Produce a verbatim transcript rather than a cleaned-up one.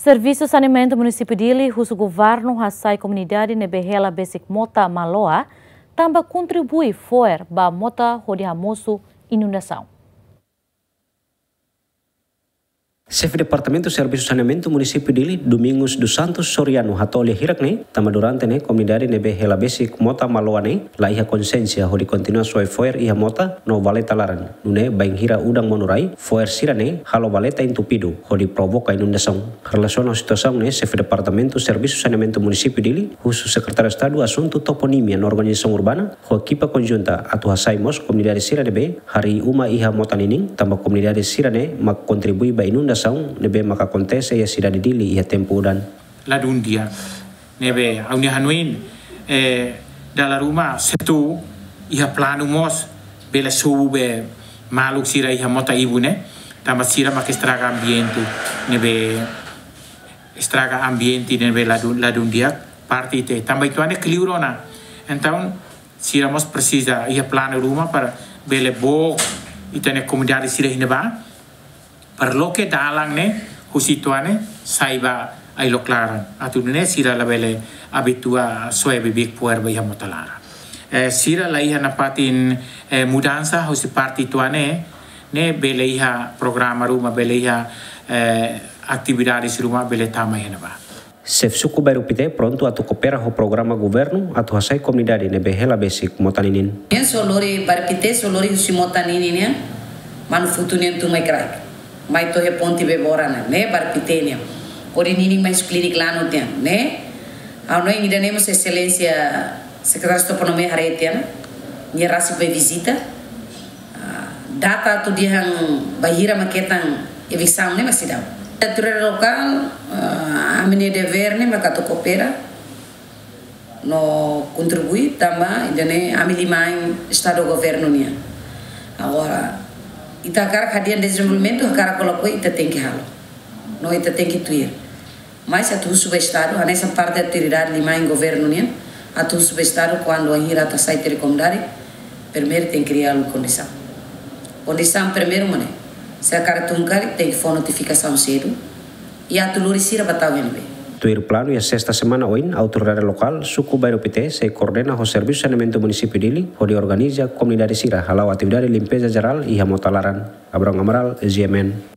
Servisu Saneamentu Munisípiu Dili husu governu hasai komunidade ne'ebé hela besik mota maloa, tanba kontribui fo'er ba mota hodi hamosu inundasaun. Xefe Departamentu Servisu Saneamentu Munisípiu Dili, Domingos dos Santos Soriano, hato'o lia hirak ne'e, tanba durante ne'e komunidade ne'ebé hela besik mota maloa ne'e la iha konsiénsia hodi kontinua soe fo'er iha mota no valeta laran. Nune'e bainhira udan monu rai, fo'er sira-ne'e halo valeta entupidu hodi provoka inundasaun. Relasiona situasaun ne'e, Xefe Departamentu Servisu Saneamentu Munisípiu Dili husu Sekretáriu Estadu Asuntu Toponímia no Organizasaun Urbana ho ekipa konjunta atu hasai mós komunidade sira ne'ebé harii uma iha mota ninin, tanba komunidade sira-ne'e mak kontribui ba inundasaun ne'ebé maka akontese iha sidade Dili iha tempu udan. Ladún di'ak. Ne'ebé ha'u-nia hanoin, eh, dala ruma se atu iha planu mós bele sobu be maluk sira iha mota ibun ne'e, tanba sira mak estraga ambiente, ne'ebé estraga ambiente ne'ebé ladún, ladún di'ak parte ita-nia. Tanba ita-nia kleur ona. Entaun, sira mós presiza iha planu ruma para bele book ita-nia komunidade sira iha ne'ebá, para loke dalan ne'e husi ita-nia sai ba ailok laran. Atu nune'e sira labele abitua soe beibeik fo'er ba iha mota laran. Eh, sira la iha nafatin, eh, mudansa husi parte ita-nia ne'e, ne'e bele iha programa ruma, bele iha, eh, atividades ruma bele tama iha ne'ebá. Xefe Suku Bairru Pité prontu atu koopera ho programa governu atu hasai komunidade ne'ebé hela besik mota ninin. Nian só lori Bairru Pité, só lori husi mota ninin nian, Manufutu nian tun mai kraik. Mai to'o iha ponte Bebora ne'e, ne'e Bairru Pité nian. Hodi ninin mai husi klinik Lanut nian, ne'e. Ha'u hanoin ida-ne'e mós Exelénsia Sekretáriu Toponímia haree tiha ona, nia rasik bá vizita. Ah, data atu dehan bainhira mak hetan eviksaun ne'e mak seidauk. Autoridade lokál, ah, ami-nia devér ne'e mak atu koopera no kontribui tanba ida-ne'e ami liman Estadu governu nian. Agora, ita hakarak hadi'a dezenvolvimentu, hakarak ka lakohi, ita tenke halo. No ita tenke tuir. Mas atu husu ba Estadu, hanesan parte autoridade liman governu nian, atu husu ba Estadu kuandu bainhira atu hasai tiha komunidade, primeiru tenke kria kondisaun. Kondisaun primeiru mak ne'e, se hakarak tun karik tenke fó notifikasaun sedu, i atu lori sira bá tau iha ne'ebé. Tuir planu iha sesta semana oin, autoridade lokál Suku Bairru Pité sei koordena ho Servisu Saneamentu Munisípiu Dili hodi organiza komunidade sira hala'o atividade limpeza jerál iha mota laran. Abrão Amaral, G M N.